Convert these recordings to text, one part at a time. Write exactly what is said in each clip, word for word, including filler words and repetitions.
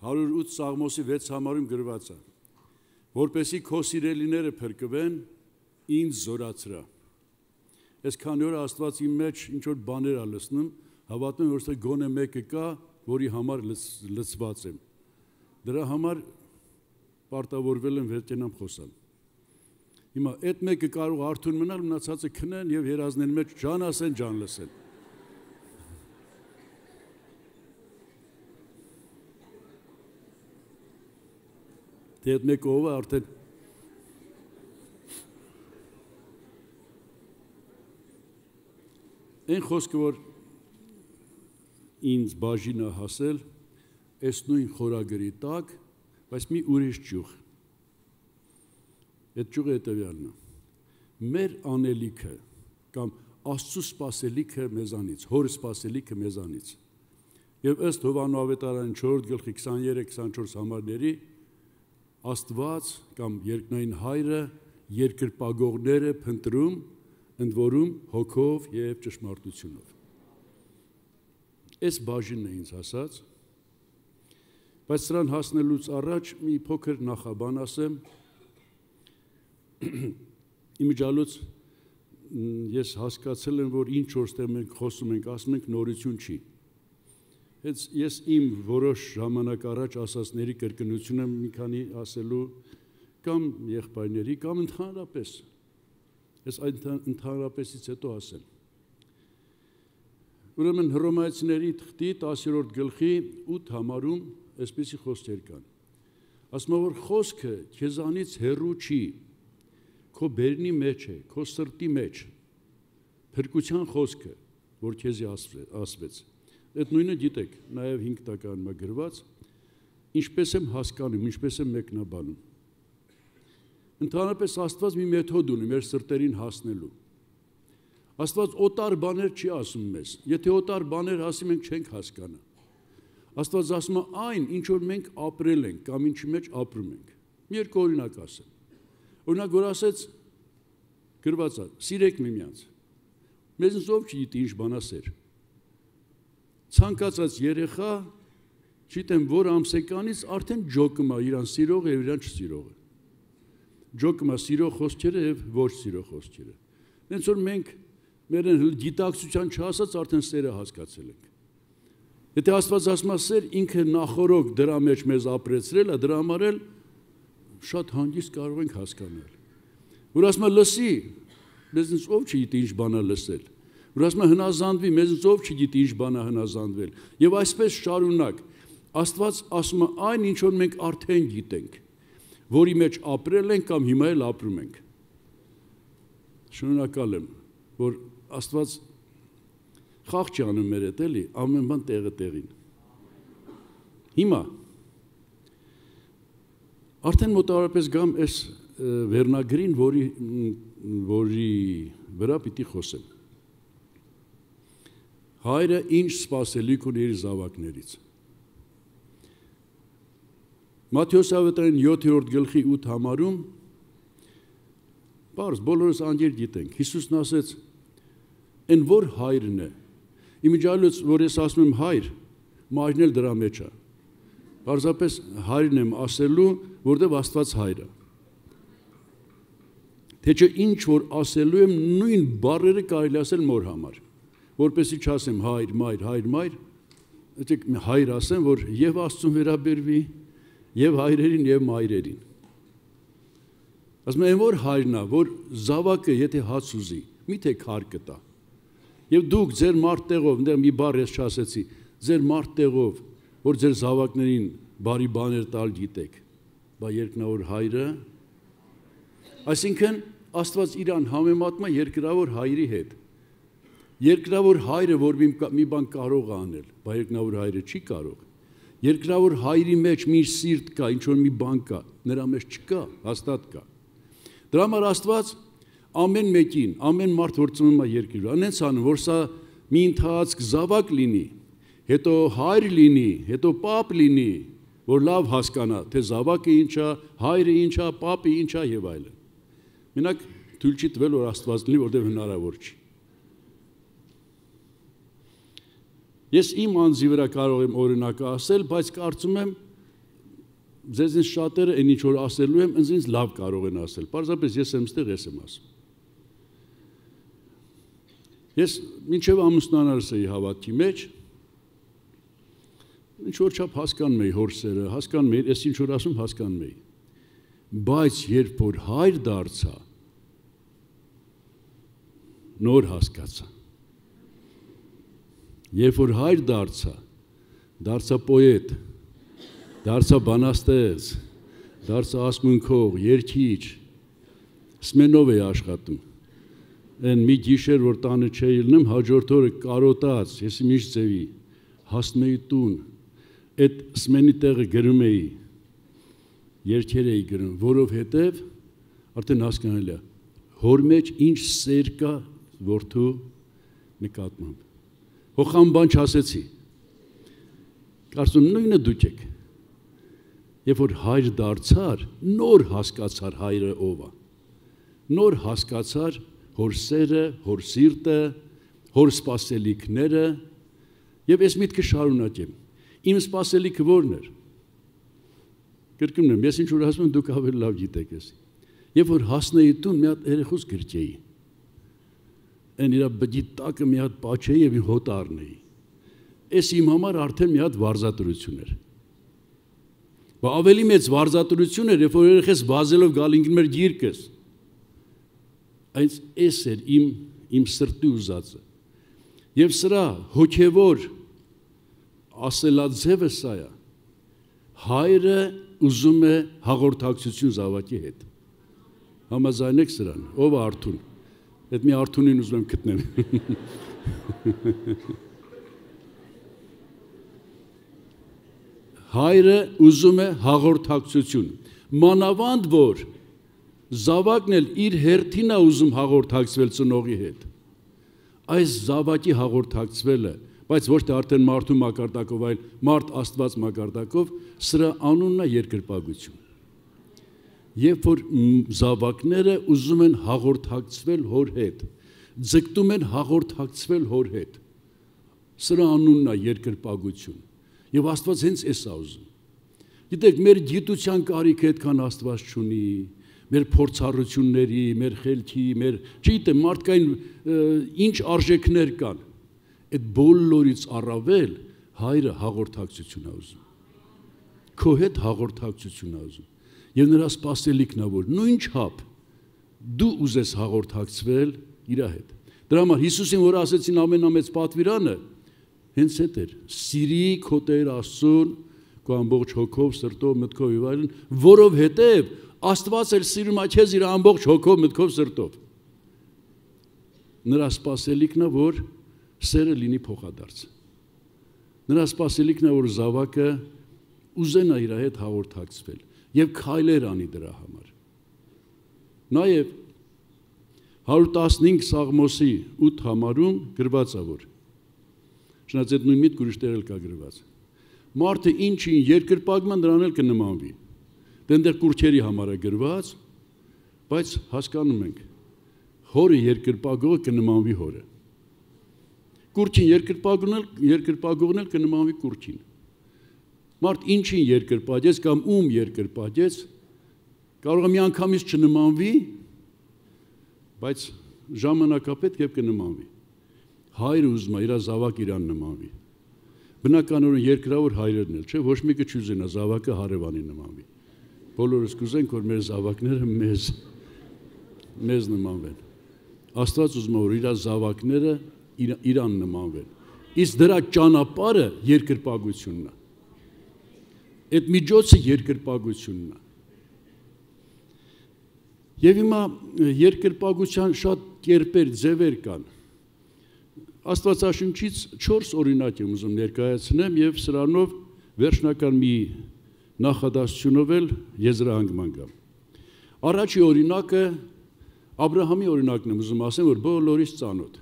հարյուր ութ Սաղմոսի վեց համարում գրված է, որպեսի քո սիրելիները փրկվեն, ինձ զորացրա։ Ես քանի օր Աստված իմ մեջ ինչ որ բաներ ա լսնում, հավատում եմ, որ գոնե մեկը կա, որի համար լցված եմ։ Դրա համար պարտավորվել եմ վերջենամ խոսալ։ Հիմա այդ մեկը կարող արթուն մնալ, մնացածը քնեն եւ երազներն մեջ ջան ասեն, ջան լսեն։ Դե այդ մեկը ով է արդեն Այն խոսքը, որ ինձ բաժին է հասել, այս նույն խորագրի տակ, բայց մի ուրիշ ճյուղ։ Այդ ճյուղը հետևյալն է։ Մեր անելիքը կամ Աստծո սպասելիքը մեզանից, Հոր սպասելիքը մեզանից։ Եվ ըստ Հովհաննես ավետարանի չորրորդ գլխի քսաներեք քսանչորս համարների Աստված կամ երկնային Հայրը երկրպագողները փնտրում, ընդ որում հոգով եւ ճշմարտությունով։ Այս բաժինն է ինձ հասած, բայց սրան հասնելուց առաջ մի փոքր նախաբան ասեմ։ Իմիջալոց ես հասկացել եմ, որ ինչ որտեղ մենք խոսում ենք, ասում ենք նորություն չի։ Հենց ես իմ որոշ ժամանակ առաջ ասածների կրկնությունը մի քանի ասելու կամ եղբայրների կամ ընդհանրապես ես այդ ընդհանրապեսից հետո ասեմ։ Ուրեմն Հռոմայացիների թղթի տասերորդ գլխի ութ համարում այսպիսի խոսքեր կան։ Ասում է, որ խոսքը քեզանից հեռու չի, քո բերնի մեջ է, քո սրտի մեջ, փրկության խոսքը, որ քեզի ասվեց։ Այդ նույնը գիտեք, նաև հինգ տականում է գրված, ինչպես եմ հասկանում, ինչպես եմ մեկնաբանում։ Ընդհանրապես Աստված մի մեթոդ ունի մեր սրտերին հասնելու։ Աստված օտար բաներ չի ասում մեզ։ Եթե օտար բաներ ասի, մենք չենք հասկանա։ Աստված ասում է այն, ինչ որ մենք ապրել ենք կամ ինչի մեջ ապրում ենք։ Մի երկու օրինակ ասեմ։ Օրինակ, որ ասեց գրված է, սիրեք միմյանց։ Մեզնից ով չգիտի ինչ բան ասեր։ Ցանկացած երեխա, չգիտեմ որ ամսեկանից արդեն ջոկում է իրան սիրողը եւ իրան չսիրողը։ Ջոկում է սիրող խոսքերը եւ ոչ սիրող խոսքերը։ Հենց որ մենք մեր գիտակցության չհասած արդեն սերը հասկացել ենք։ Եթե Աստված ասում է սեր, ինքը նախորոք դրա մեջ մեզ ապրեցրել է, դրա համար էլ շատ հանգիստ կարող ենք հասկանալ։ Որ ասում է լսի, մեզնից ով չգիտի ինչ բան է լսել։ Որ ասում է հնազանդվի, մեզնից ով չգիտի ինչ բան է հնազանդվել։ Եվ այսպես շարունակ Աստված ասում է այն, ինչ որ մենք արդեն գիտենք, որի մեջ ապրել ենք կամ հիմա էլ ապրում ենք։ Շնորհակալ եմ, որ Աստված խաղ չի անում մեր հետ, էլի, ամեն բան տեղը տեղին։ Հիմա արդեն մոտավորապես գամ այս վերնագրին, որի որի վրա պիտի խոսեմ։ Հայրը ինչ սպասելիք ունի իր զավակներից։ Մատթեոս ավետարանի յոթերորդ գլխի ութ համարում բարձ բոլորս անգիր գիտենք։ Հիսուսն ասեց. «Այն որ հայրն է»։ Իմիջիալոց, որ ես ասում եմ հայր, մայրն էլ դրա մեջ է։ Պարզապես հայրն եմ ասելու, որտեղ Աստված հայր է։ Թե չէ ինչ որ ասելու եմ, նույն բառերը կարելի ասել մոր համար, որպեսզի չասեմ հայր, մայր, հայր, մայր, եկեք հայր ասեմ, որ եւ Աստծուն վերաբերվի, եւ հայրերին, եւ մայրերին։ Ասում եմ, որ հայրն է, որ զավակը եթե հաց ուզի, միթե քար կտա։ Եվ դուք ձեր մարտեղով, այնտեղ մի բառ ես չասեցի, ձեր մարտեղով, որ ձեր զավակներին բարի բաներ տալ գիտեք, բա երկնավոր հայրը, այսինքն Աստված իրան համեմատում է երկրավոր հայրի հետ։ Երկրավոր հայրը, որ մի բան կարող է անել, բա երկնավոր հայրը չի կարող։ Երկրավոր հայրի մեջ մի սիրտ կա, ինչ որ մի բան կա, նրա մեջ չկա, հաստատ կա։ Դրա համար Աստված ամեն մեկին, ամեն մարդ որ ծնվում է երկրի վրա, այնց անում, որ սա մի ընթացք զավակ լինի, հետո հայր լինի, հետո պապ լինի, որ լավ հասկանա, թե զավակը ինչ է, հայրը ինչ է, պապը ինչ է եւ այլն։ Մենակ թույլ չի տվել, որ Աստված լինի, որտեղ հնարավոր չի։ Ես իմ անձի վրա կարող եմ օրինակը ասել, բայց կարծում եմ ձեզնից շատերը այն ինչ որ ասելու եմ, ինձ լավ կարող են ասել։ Պարզապես ես եմ ստեղ, ես եմ ասում։ Ես մինչև ամուսնանալս էի հավատքի մեջ, ինչ որ չափ հասկանում էի հոր սերը, հասկանում էի, ես ինչ որ ասում հասկանում էի։ Բայց երբ որ հայր դարձա, նոր հասկացա։ Երբ որ հայր դարձա, դարձա պոետ, դարձա բանաստեղծ, դարձա ասմունքող, երգիչ, սմենով էի աշխատում։ Այն մի գիշեր, որ տանը չէի ելնում, հաջորդ օրը կարոտած, ես միշտ ձևի, հասնում էի տուն, այդ սմենի տեղը գրում էի, երգեր էի գրում, որովհետև արդեն հասկանալ է, հոր մեջ ինչ սեր կա որդու նկատմամբ։ Հոխամ բան չասեցի։ Կարծում նույնը դուք եք։ Երբ որ հայր դարձար, նոր հասկացար հայրը ով է։ Նոր հասկացար հոր սերը, հոր սիրտը, հոր սպասելիքները, եւ ես միտքը շարունակեմ։ Իմ սպասելիքը ո՞րն էր։ Կրկնում եմ, ես ինչ որ ասում եմ, դուք ավելի լավ գիտեք ես։ Երբ որ հասնեի տուն, մի հատ երեխուս գրկեի։ Այն իր բջի տակը մի հատ պաչեի եւ հոտ առնեի։ Էս իմ համար արդեն մի հատ վարզատրություն էր։ Բա ավելի մեծ վարզատրություն էր, երբ որ երեխես վազելով գալ ինքն մեր գիրկս։ Այս էս էր իմ իմ սրտի ուզածը։ Եվ սրա հոգևոր ասելաձևը սա է։ Հայրը ուզում է հաղորդակցություն զավակի հետ։ Համաձայնեք սրան, ով է Արթուն։ Այդ մի Արթունին ուզում եմ գտնեմ։ Հայրը ուզում է հաղորդակցություն։ Մանավանդ որ զավակն էլ իր հերթին է ուզում հաղորդակցվել ծնողի հետ։ Այս զավակի հաղորդակցվելը, բայց ոչ թե արդեն մարդու մակարդակով, այլ մարդ Աստված մակարդակով, սրա անունն է երկրպագություն։ Երբ որ զավակները ուզում են հաղորդակցվել հոր հետ, ձգտում են հաղորդակցվել հոր հետ, սրա անունն է երկրպագություն։ Եվ Աստված հենց էս է ուզում։ Գիտեք, մեր գիտության կարիքը այդքան Աստված չունի, մեր փորձառությունների, մեր խելքի, մեր, չգիտեմ, մարդկային ինչ արժեքներ կան։ Այդ բոլորից առավել հայրը հաղորդակցություն է ուզում։ Քո հետ հաղորդակցություն է ուզում։ Եվ նրա սպասելիքն է, որ նույն չափ դու ուզես հաղորդակցվել իր հետ։ Դրա համար Հիսուսին, որ ասեցին ամենամեծ պատվիրանը, հենց այդ էր, սիրի քո Տեր Աստծուն, քո ամբողջ հոգով, սրտով, մտքով եւ այլն, որովհետեւ Աստված էլ սիրում է քեզ իր ամբողջ հոգով, մտքով, սրտով։ Նրա սպասելիքն է, որ սերը լինի փոխադարձ։ Նրա սպասելիքն է, որ զավակը ուզենա իր հետ հաղորդակցվել եւ քայլեր անի դրա համար։ Նաեւ հարյուր տասնհինգ Սաղմոսի ութ համարում գրված է, որ Շնաց այդ նույն միտք ուրիշ տեղ էլ կա գրված։ Մարդը ինչին երկրպագման դրան էլ կնմանվի։ Դենտեղ կուրքերի համար է գրված, բայց հասկանում ենք, հորը երկրպագողը կնմանվի հորը։ Կուրքին երկրպագողն էլ երկրպագողն էլ կնմանվի կուրքին։ Մարդ ինչին երկրպագեց կամ ում երկրպագեց, կարող է մի անգամից չնմանվի, բայց ժամանակապետք եւ կնմանվի։ Հայրը ուզում է իր զավակ իրան նմանվի։ Բնականորեն երկրավոր հայրերն էլ, չէ, ոչ մեկը չուզենա զավակը հարևանի նմանվի։ Բոլորս կուզենք, որ մեր զավակները մեզ մեզ նմանվեն։ Աստված ուզում է, որ իր զավակները իրան նմանվեն։ Իսկ դրա ճանապարհը երկրպագությունն է։ Այդ միջոցը երկրպագությունն է։ Եվ հիմա երկրպագության շատ կերպեր, ձևեր կան։ Աստվածաշնչից չորս օրինակ եմ ուզում ներկայացնեմ եւ սրանով վերջնական մի նախադասությունով էլ եզրահանգման գամ։ Առաջի օրինակը Աբրահամի օրինակն եմ ուզում ասեմ, որ բոլորից ծանոթ։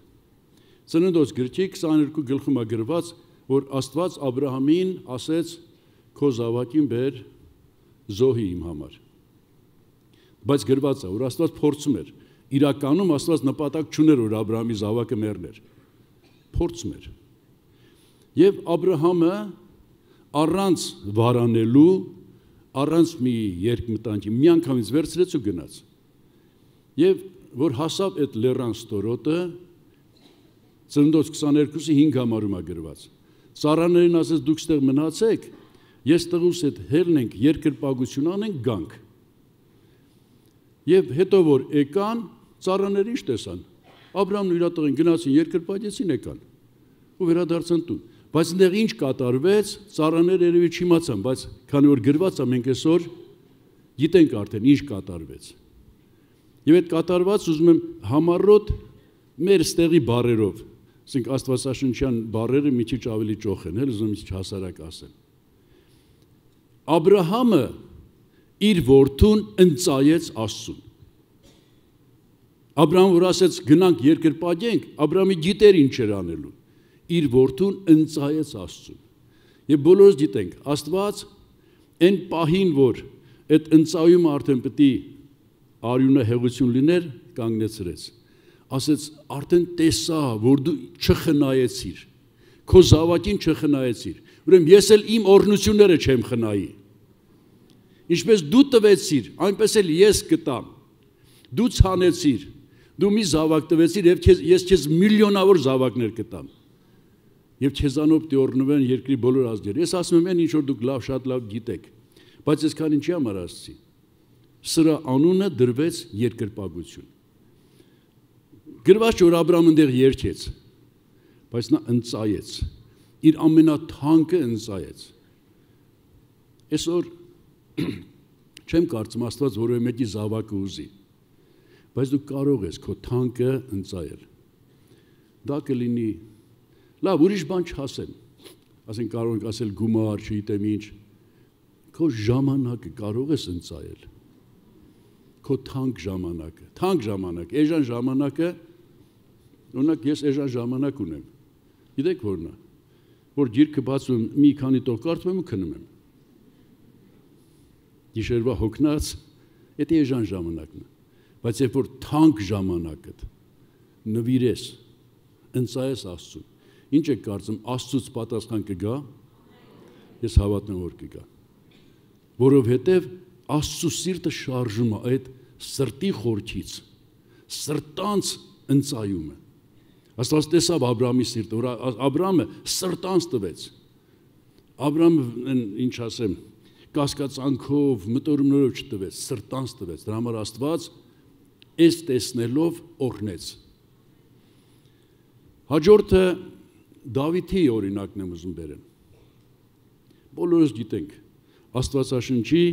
Ծննդոց գրքի քսաներկու գլխում է գրված, որ Աստված Աբրահամին ասեց. «Քո զավակին բեր զոհի իմ համար»։ Բայց գրված է, որ Աստված փորձում էր։ Իրականում Աստված նպատակ չուներ, որ Աբրահամի զավակը մեռներ։ Փորձում էր։ Եվ Աբրահամը առանց վարանելու, առանց մի երկմտանքի մի անգամից վերցրեց ու գնաց։ Եվ որ հասավ այդ լեռան ստորոտը, Ծննդոց քսաներկուսի հինգ համարում է գրված։ Ծառաներին ասեց դուք ստեղ մնացեք, ես տղուս հետ հելնենք, երկրպագություն անենք, գանք։ Եվ հետո որ եկան, ծառաները ինչ տեսան։ Աբրամն ու իր տղին գնացին, երկրպագեցին, եկան ու վերադարձան տուն։ Բայց այնտեղ ինչ կատարվեց, ծառաները երևի չիմացան, բայց քանի որ գրված է, մենք այսօր գիտենք արդեն ինչ կատարվեց։ Եվ այդ կատարված ուզում եմ համառոտ մեր ստեղի բառերով, ասենք աստվածաշնչյան բառերը մի քիչ ավելի ճոխ են, էլ ուզում եմ մի քիչ հասարակ ասեմ։ Աբրահամը իր որդուն ընծայեց Աստծուն։ Աբրահամ որ ասեց գնանք երկրպագենք, Աբրահամը գիտեր ինչ էր անելու։ Իր որդուն ընծայեց Աստծուն։ Եվ բոլորս գիտենք, Աստված այն պահին, որ այդ ընծայումը արդեն պետք է արյունահեղություն լիներ, կանգնեցրեց։ Ասեց արդեն տեսա, որ դու չխնայեցիր, քո զավակին չխնայեցիր, ուրեմն ես էլ իմ օրհնությունները չեմ խնայի։ Ինչպես դու տվեցիր, այնպես էլ ես կտամ։ Դու ցանեցիր, դու մի զավակ տվեցիր եւ ես քեզ միլիոնավոր զավակներ կտամ։ Եվ քեզանով դիորնվեն երկրի բոլոր ազգերը։ Ես ասում եմ, ինչ որ դուք լավ շատ լավ գիտեք, բայց այսքան ինչի համար ասացի։ Սրա անունը դրվեց երկրպագություն։ Գրված որ Աբրահամը այնտեղ երգեց, բայց նա ընծայեց, իր ամենաթանկը ընծայեց։ Այսօր չեմ կարծում Աստված որևէ մեկի զավակը ուզի, բայց դու կարող ես քո թանկը ընծայել։ Դա կլինի, լավ, ուրիշ բան չասեմ, ասենք կարող ենք ասել գումար, չգիտեմ ինչ, քո ժամանակը կարող ես ընծայել, քո թանկ ժամանակը, թանկ ժամանակ, էժան ժամանակը, օրինակ ես էժան ժամանակ ունեմ, գիտեք որն է, որ գիրքը բացում մի քանի տող կարդում եմ ու քնում եմ, գիշերվա հոգնած, դա էժան ժամանակն է, բայց երբ որ թանկ ժամանակդ նվիրես, ընծայես Աստծուն, ինչ եք կարծում, Աստծուց պատասխան կգա, ես հավատում որ կգա, որովհետև Աստծու սիրտը շարժում է այդ սրտի խորքից, սրտանց ընծայումը։ Աստված տեսավ Աբրահամի սիրտը, որ Աբրահամը սրտանց տվեց։ Աբրահամը ինչ ասեմ, կասկածանքով, մտորումներով չտվեց, սրտանց տվեց։ Դրա համար Աստված այս տեսնելով օրհնեց։ Հաջորդը Դավիթի օրինակն եմ ուզում բերեմ։ Բոլորս գիտենք, Աստվածաշնչի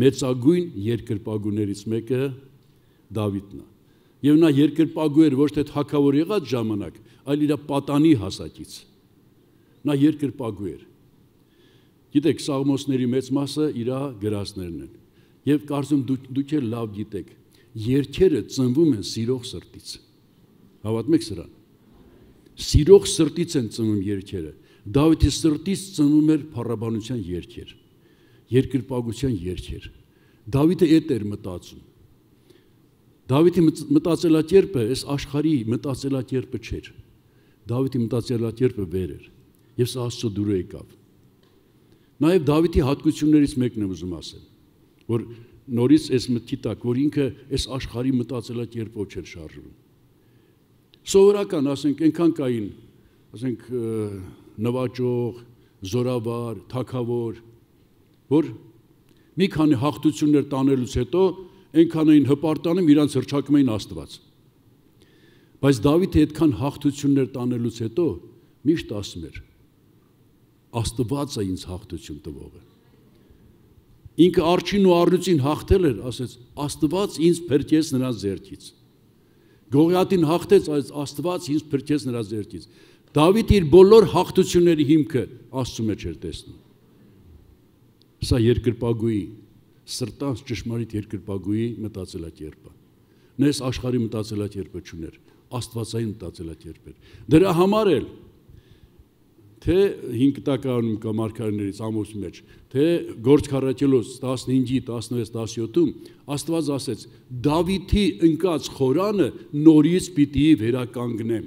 մեծագույն երկրպագուներից մեկը Դավիթն է։ Եվ նա երկրպագու էր ոչ թե թագավոր եղած ժամանակ, այլ իր պատանի հասակից։ Նա երկրպագու էր։ Գիտեք, Սաղմոսների մեծ մասը իր գրածներն են։ Եվ կարծում դուք, դուք էլ լավ գիտեք, երգերը ծնվում են սիրող սրտից։ Հավատում եք սրան։ Սիրող սրտից են ծնվում երգերը։ Դավիթի սրտից ծնվում էր փառաբանության երգեր, երկրպագության երգեր։ Դավիթը այդ էր մտածում։ Դավիթի մտածելակերպը այս աշխարհի մտածելակերպը չէր։ Դավիթի մտածելակերպը վեր էր, եւ սա Աստծո դուրը եկավ։ Նաեւ Դավիթի հատկություններից մեկն եմ ուզում ասել, որ նորից այս մտքի տակ, որ ինքը այս աշխարհի մտածելակերպով չէր շարժվում։ Սովորական, ասենք, այնքան կային, ասենք, նվաճող, զորավար, թագավոր, որ մի քանի հաղթություններ տանելուց հետո այնքան էին հպարտանում, իրանց հռչակում էին Աստված։ Բայց Դավիթը այդքան հաղթություններ տանելուց հետո միշտ ասում էր. Աստված է ինձ հաղթություն տվողը։ Ինքը արջին ու առյուծին հաղթել էր, ասեց, Աստված ինձ փրկեց նրա ձեռքից։ Գողիաթին հաղթեց, այս Աստված ինձ փրկեց նրա ձեռքից։ Դավիթը իր բոլոր հաղթությունների հիմքը Աստծու մեջ էր տեսնում։ Սա երկրպագուի, սրտանց ճշմարիտ երկրպագուի մտածելակերպը։ Նա այս աշխարհի մտածելակերպը չուներ, աստվածային մտածելակերպ էր։ Դրա համար էլ թե հինգ տակարանում կամ մարգարեներից Ամոսի մեջ, թե Գործք առաքելոց տասնհինգի, տասնվեց, տասնյոթում Աստված ասեց. Դավիթի ընկած խորանը նորից պիտի վերականգնեմ։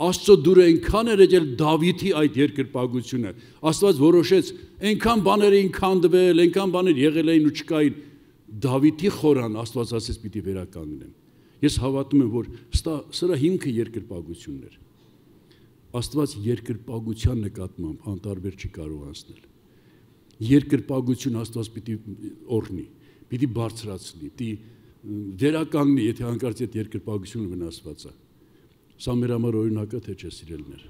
Աստծո դուրը այնքան էր եկել Դավիթի այդ երկրպագությունը։ Աստված որոշեց, այնքան բաներ էին քանդվել, այնքան բաներ եղել էին ու չկային։ Դավիթի խորան Աստված ասեց պիտի վերականգնեմ։ Ես հավատում եմ, որ սրա հիմքը երկրպագությունն էր։ Աստված երկրպագության նկատմամբ անտարբեր չի կարող անցնել։ Երկրպագություն Աստված պիտի օրհնի, պիտի բարձրացնի, պիտի վերականգնի, եթե հանկարծ այդ երկրպագությունը վնասված է։ Սա մեր համար օրինակը թե չէ սիրելիներ։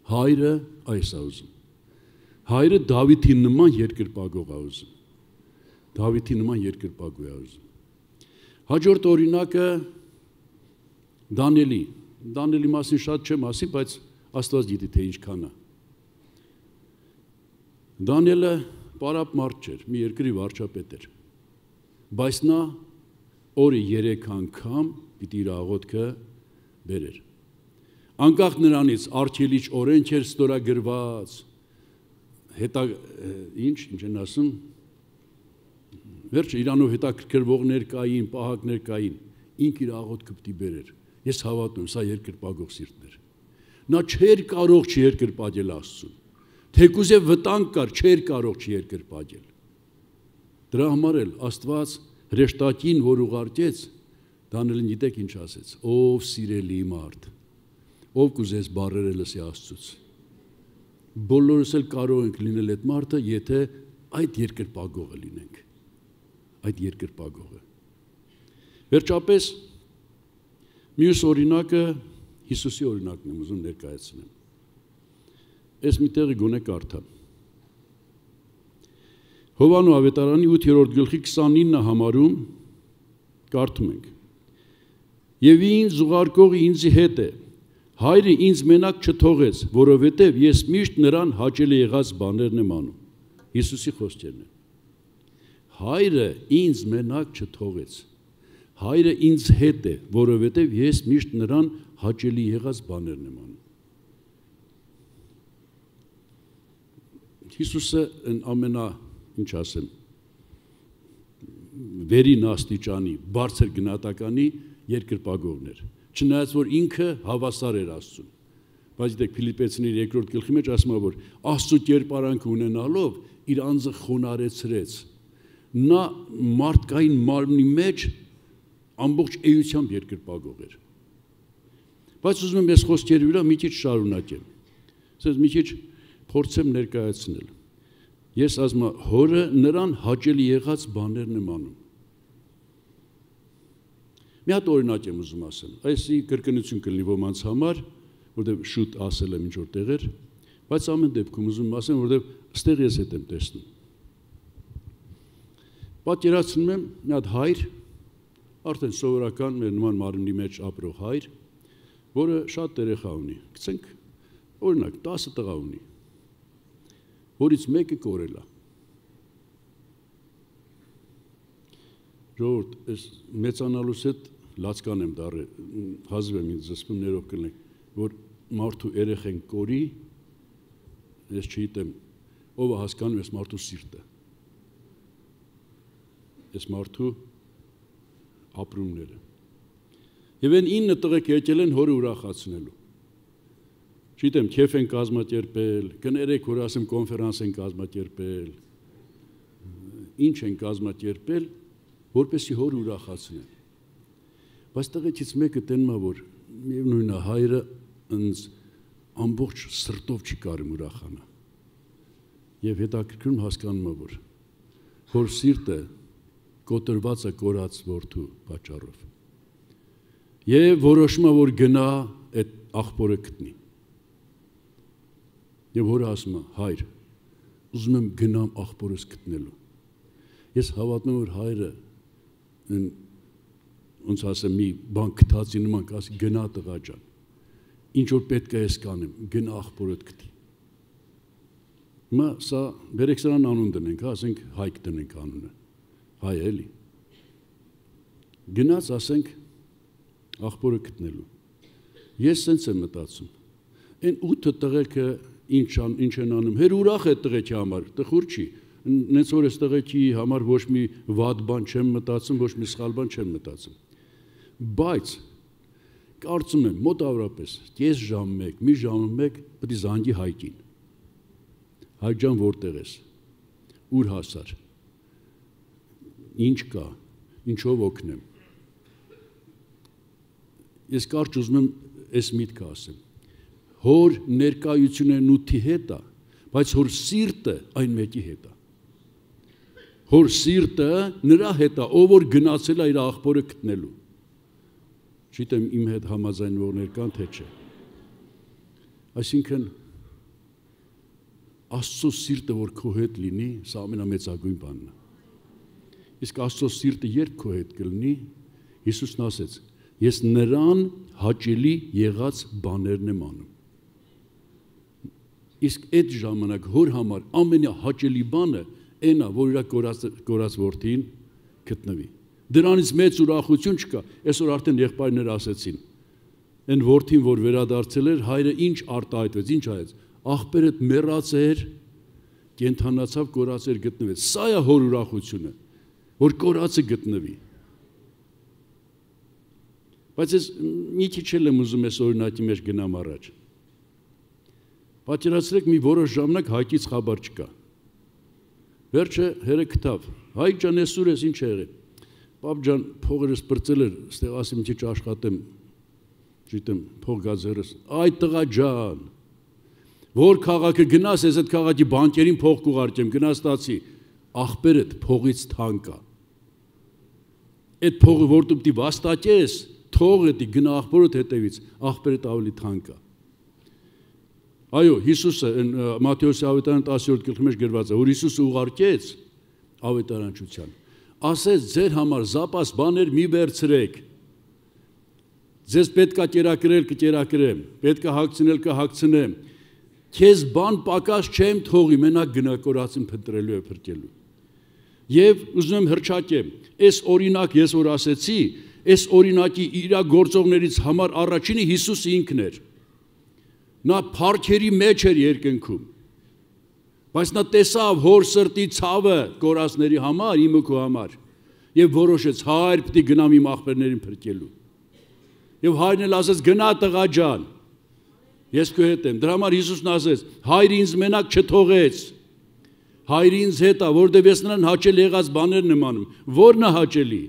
Հայրը այս է ուզում։ Հայրը Դավիթի նման երկրպագող է ուզում։ Դավիթի նման երկրպագու է ուզում։ Հաջորդ օրինակը Դանիելի։ Դանիելի մասին շատ չեմ ասի, բայց Աստված գիտի թե ինչքան է։ Դանիելը պարապ մարդ չէր, մի երկրի վարչապետ էր։ Բայց նա օրը երեք անգամ պիտի իր աղոթքը բերեր։ Անկախ նրանից արգելիչ օրենք էր ստորագրված, հետա ինչ, ինչ են ասում, վերջը իրանով հետաքրքրվողներ կային, պահակներ կային, ինք իր աղոթքը պիտի բերեր։ Ես հավատում, սա երկրպագող սիրտներ։ Նա չէր կարող չերկրպագել Աստծուն։ Թեկուզև վտանգ կար, չէր կարող չերկրպագել։ Դրա համար էլ Աստված հրեշտակին, որ ուղարկեց, Դանիելին գիտեք ինչ ասեց. ով սիրելի մարդ, ով կուզես բառերը լսի Աստծուց։ Բոլորս էլ կարող ենք լինել այդ մարդը, եթե այդ երկրպագողը լինենք։ Այդ երկրպագողը։ Վերջապես մյուս օրինակը Հիսուսի օրինակն եմ ուզում ներկայացնեմ։ Այս մի տեղի գոնե կարդամ։ Հովանու ավետարանի ութերորդ գլխի քսանինը համարում կարդում ենք. Եվ ինձ ուղարկողը ինձի հետ է, հայրը ինձ մենակ չթողեց, որովհետև ես միշտ նրան հաճելի եղած բաներն եմ անում։ Հիսուսի խոսքերն են։ Հայրը ինձ մենակ չթողեց, հայրը ինձ հետ է, որովհետև ես միշտ նրան հաճելի եղած բաներն եմ անում։ Հիսուսը ամենա, ինչ ասեմ, վերին աստիճանի, բարձր գնահատականի երկրպագողներ, չնայած որ ինքը հավասար էր Աստծուն։ Բայց դեք Փիլիպպեցիների երկրորդ գլխի մեջ ասում է, որ Աստծո կերպարանքը ունենալով իր անձը խոնարեցրեց։ Նա մարդկային մարմնի մեջ ամբողջ էությամբ երկրպագող էր։ Բայց ուզում եմ ես խոսքերի վրա մի քիչ շարունակեմ։ Ասես մի քիչ փորձեմ ներկայացնել։ Ես ասում եմ, հորը նրան հաճելի եղած բաներն եմ անում։ Մի հատ օրինակ եմ ուզում ասել։ Այսի կրկնություն կլինի ոմանց համար, որտեղ շուտ ասել եմ ինչ որ տեղեր, բայց ամեն դեպքում ուզում եմ ասեմ, որտեղ ստեղ ես հետ եմ տեսնում։ Պատկերացնում եմ մի հատ հայր, արդեն սովորական մեր նման մարմնի մեջ ապրող հայր, որը շատ երեխա ունի։ Գցենք օրինակ տասը տղա ունի, որից մեկը կորել է։ Ժողովուրդ, ես մեծանալուց հետ լացկան եմ դառը, հազիվ եմ ինձ զսպում ներով կլնենք, որ մարդու երեխեն կորի, ես չգիտեմ, ով է հասկանում ես մարդու սիրտը, ես մարդու ապրումները։ Եվ են ինը տղեկ եկել են հորը ուրախացնելու։ Չգիտեմ, քեֆ են կազմակերպել, կներեք, որ ասեմ կոնֆերանս են կազմակերպել, ինչ են կազմակերպել, որպեսզի հորը ուրախացնեն։ Բայց տղեկից մեկը տենում է, որ միևնույն է հայրը ինձ ամբողջ սրտով չի կարում ուրախանա։ Եվ հետաքրքրում հասկանում է, որ հոր սիրտը կոտրված է կորած որդու պատճառով։ Եվ որոշում է, որ գնա այդ աղբորը գտնի։ Եվ հորը ասում է, հայր, ուզում եմ գնամ աղբորս գտնելու։ Ես հավատում եմ, որ հայրը ոնց ասեմ, մի բան գտածի նման կասի, գնա տղա ջան, ինչ որ պետք է ես կանեմ, գնա աղբորդ գտի։ Հիմա սա բերեք սրան անուն դնենք, ասենք Հայկ դնենք անունը, հայ էլի։ Գնաց ասենք աղբորը գտնելու։ Ես սենց եմ մտածում, այն ութը տղեկը ինչ են անում, հեր ուրախ է տղեկի համար, տխուր չի, նենց որ ես տղեկի համար ոչ մի վատ բան չեմ մտածում, ոչ մի սխալ բան չեմ մտածում։ Բայց կարծում եմ մոտավորապես կես ժամ մեկ, մի ժամ մեկ պետք է զանգի Հայկին։ Հայկ ջան, որտեղ ես։ Ուր հասար։ Ինչ կա, ինչով օգնեմ։ Ես կարճ ուզում եմ այս միտքը ասեմ։ Հոր ներկայությունը նյութի հետ է, բայց հոր սիրտը այն մեկի հետ է։ Հոր սիրտը նրա հետ է, ով որ գնացել է իր աղբորը գտնելու։ Չգիտեմ իմ հետ համաձայնվողներ կան թե չէ։ Այսինքն Աստծո սիրտը որ քո հետ լինի, սա ամենամեծագույն բանն է։ Իսկ Աստծո սիրտը երբ քո հետ կլինի, Հիսուսն ասեց. ես նրան հաճելի եղած բաներն եմ անում։ Իսկ այդ ժամանակ հոր համար ամենահաճելի բանը այն է, որ իր կորած որդին գտնվի։ Դրանից մեծ ուրախություն չկա, այսօր արդեն եղբայրները ասեցին։ Այն որդին, որ վերադարձել էր, հայրը ինչ արտահայտվեց, ինչ այեց, աղբերդ մեռած էր, կենդանացավ, կորած էր գտնվեց։ Սա է հոր ուրախությունը, որ կորածը գտնվի։ Բայց ես մի քիչ էլ եմ ուզում այս օրինակի մեջ գնամ առաջ։ Պատկերացրեք մի որոշ ժամանակ Հայկից խաբար չկա։ Վերջը հերը գտավ։ Հայկ ջան, այսօր ես ինչ եղել։ Պապ ջան, փողերս բրծել էր, ստեղ ասեմ մի քիչ աշխատեմ, չգիտեմ, փող գազերս։ Այ տղա ջան, որ քաղաքը գնաս, ես այդ քաղաքի բանկերին փող կուղարկեմ, գնաս տացի, աղբերդ փողից թանկ է։ Այդ փողը որ դու պիտի վաստակես, թող էդի գնա աղբորդ հետևից, աղբերդ ավելի թանկ է։ Այո, Հիսուսը Մատթեոսի ավետարան տասերորդ գլխի մեջ գրված է, որ Հիսուսը ուղարկեց ավետարանչության։ Ասեց ձեր համար զապաս բաներ մի վերցրեք։ Ձեզ պետքա կերակրել, կկերակրեմ, պետքա հագցնել, կհագցնեմ։ Քեզ բան պակաս չեմ թողի, մենակ գնա կորածին փնտրելու է փրկելու։ Եվ ուզում եմ հրճակեմ, այս օրինակ ես որ ասեցի, այս օրինակի իր գործողներից համար առաջինը Հիսուսը ինքն էր։ Նա փառքերի մեջ էր երկնքում։ Բայց նա տեսավ հոր սրտի ցավը կորածների համար, իմ ու քո համար, եւ որոշեց հայր պիտի գնամ իմ աղբերներին փրկելու։ Եվ հայրն էլ ասեց գնա տղա ջան։ Ես քո հետ եմ։ Դրա համար Հիսուսն ասեց. հայրը ինձ մենակ չթողեց։ Հայրը ինձ հետ է, որտեղ ես նրան հաճել եղած բաներն եմ անում։ Որն է հաճելի։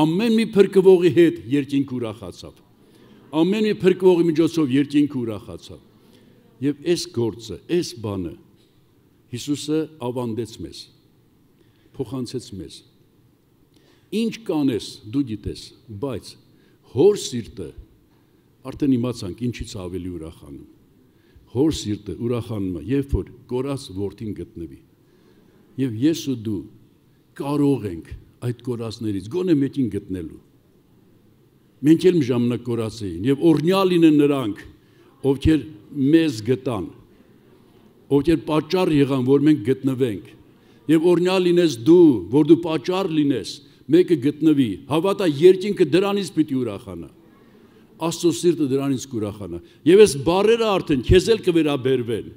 Ամեն մի փրկվողի հետ երկինք ուրախացավ։ Ամեն մի փրկվողի միջոցով երկինքը ուրախացավ։ Եվ այս գործը, այս բանը Հիսուսը ավանդեց մեզ, փոխանցեց մեզ։ Ինչ կանես, դու գիտես, բայց հոր սիրտը արդեն իմացանք ինչից ավելի ուրախանում։ Հոր սիրտը ուրախանում է, երբ որ կորած որդին գտնվի։ Եվ ես ու դու կարող ենք այդ կորածներից գոնե մեկին գտնելու։ Մենք էլ մի ժամանակ կորած էին եւ օրհնյալ լինեն նրանք, ովքեր մեզ գտան, ովքեր պատճառ եղան, որ մենք գտնվենք, եւ օրհնյալ լինես դու, որ դու պատճառ լինես, մեկը գտնվի, հավատա երկինքը դրանից պիտի ուրախանա, Աստծո սիրտը դրանից կուրախանա, եւ այս բառերը արդեն քեզ էլ կվերաբերվեն,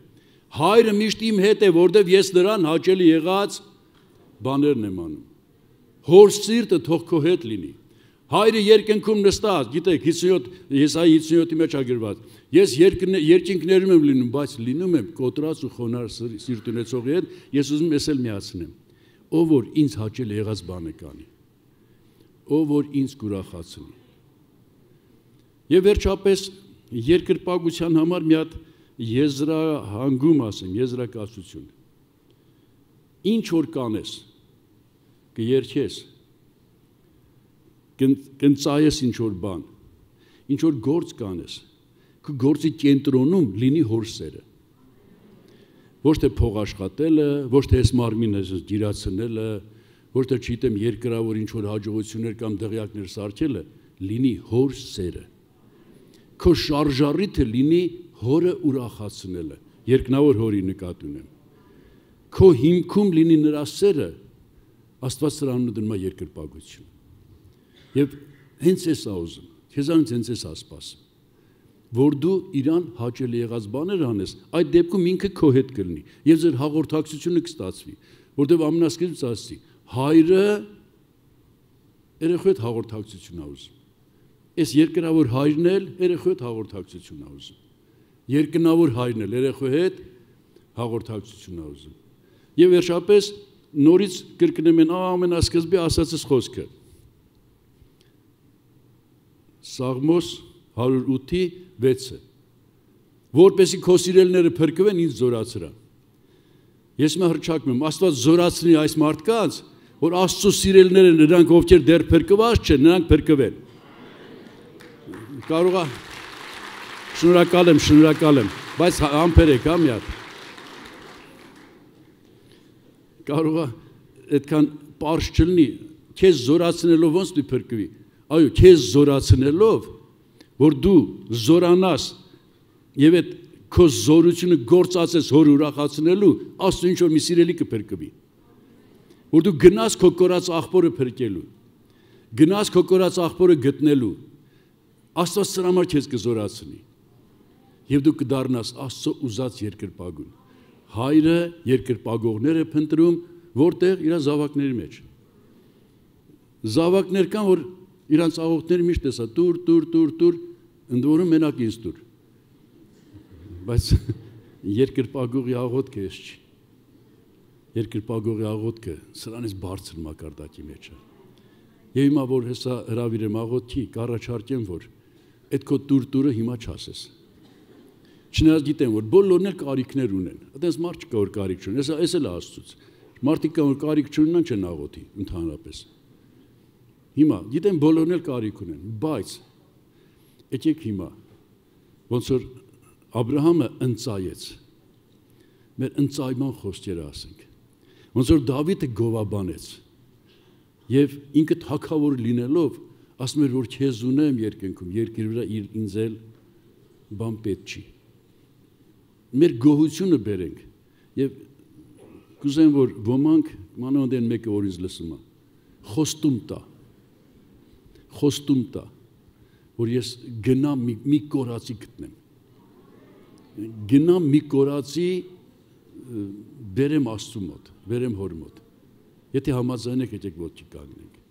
հայրը միշտ իմ հետ է, որտեւ ես նրան հաճելի եղած բաներն եմ անում, հոր սիրտը թող քո հետ լինի, հայրը երկնքում նստած, գիտեք, Եսայի հիսունյոթի մեջ ագրված, ես երկինքներում եմ լինում, բայց լինում եմ կոտրած ու խոնար սիրտ ունեցողի հետ, ես ուզում ես էլ միացնեմ, ով որ ինձ հաճել եղած բանը կանի, ով որ ինձ կուրախացնի։ Եվ վերջապես երկրպագության համար մի հատ եզրահանգում ասեմ, եզրակացություն։ Ինչ որ կանես, կերքես, կընծայես ինչ-որ բան, ինչ-որ գործ կանես, կը գործի կենտրոնում լինի հոր սերը, ոչ թե փող աշխատելը, ոչ թե ես մարմինը գիրացնելը, ոչ թե չիտեմ երկրավոր ինչ-որ հաջողություններ կամ դղյակներ սարքելը, լինի հոր սերը, քո շարժառիթը լինի հորը ուրախացնելը, երկնավոր հորի նկատի ունեմ, քո հիմքում լինի նրա սերը, Աստված սրանու դնում է երկրպագություն։ Եվ հենց ես ուզում, քեզանից հենց ես ասպասում, որ դու իրան հաճելի եղած բաներ անես, այդ դեպքում ինքը քո հետ կլինի, եւ ձեր հաղորդակցությունը կստացվի, որտեղ ամենասկզբից ասի, հայրը երեխու հետ հաղորդակցություն ա ուզում, Այս երկրավոր հայրն էլ երեխու հետ հաղորդակցություն է ուզում։ Երկնավոր հայրն էլ երեխու հետ հաղորդակցություն է ուզում։ Եվ վերջապես նորից կրկնեմ են ամենասկզբի ասածս խոսքը։ Սաղմոս հարյուր ութի վեցը։ Որպեսզի քո սիրելիները փրկվեն, ինձ զորացրա։ Ես մը հռչակում եմ, Աստված զորացնի այս մարդկանց, որ Աստծո սիրելիները նրանք ովքեր դեռ փրկված չեն, նրանք փրկվեն։ Կարող է շնորհակալ եմ, շնորհակալ եմ, բայց համբերեք, հա մի հատ։ Կարող է այդքան պարզ չլինի, քեզ զորացնելով ոնց դու փրկվի։ Այո, քեզ զորացնելով, որ դու զորանաս եւ այդ քո զորությունը գործածես հոր ուրախացնելու, Աստծո ինչ որ մի սիրելի կփրկվի։ Որ դու գնաս քո կորած աղբորը փրկելու, գնաս քո կորած աղբորը գտնելու, Աստված սրա համար քեզ կզորացնի։ Եվ դու կդառնաս Աստծո ուզած երկրպագուն։ Հայրը երկրպագողներ է փնտրում, որտեղ իր զավակների մեջ։ Զավակներ կան, որ իրանց աղոթները միշտ տեսա տուր, տուր, տուր, տուր, ընդ որում մենակ ինձ տուր։ Բայց երկրպագողի աղոթքը էս չի։ Երկրպագողի աղոթքը սրանից բարձր մակարդակի մեջ է։ Եվ հիմա որ հեսա հրավիրեմ աղոթքի, կառաջարկեմ, որ այդ քո տուր-տուրը հիմա չասես։ Չնայած գիտեմ, որ բոլորն էլ կարիքներ ունեն։ Այդպես մարդ չկա, որ կարիք չունի։ Հեսա էս էլ Աստծուց։ Մարդիկ կան, որ կարիք չունեն, չեն աղոթի ընդհանրապես։ Հիմա գիտեմ բոլորն էլ կարիք ունեն, բայց եկեք հիմա ոնց որ Աբրահամը ընծայեց։ Մեր ընծայման խոսքերը ասենք։ Ոնց որ Դավիթը գովաբանեց։ Եվ ինքը թագավոր լինելով ասում էր, որ քեզ ունեմ երկնքում, երկրի վրա ինձ էլ բան պետք չի։ Մեր գոհությունը բերենք եւ կուզեմ, որ ոմանք մանավանդ են մեկը որ ինձ լսում է, խոստում տա, խոստում տա, որ ես գնամ մի, մի կորածի գտնեմ, գնամ մի կորածի բերեմ Աստծու մոտ, բերեմ հոր մոտ, եթե համաձայն եք, եկեք ոտքի կանգնենք։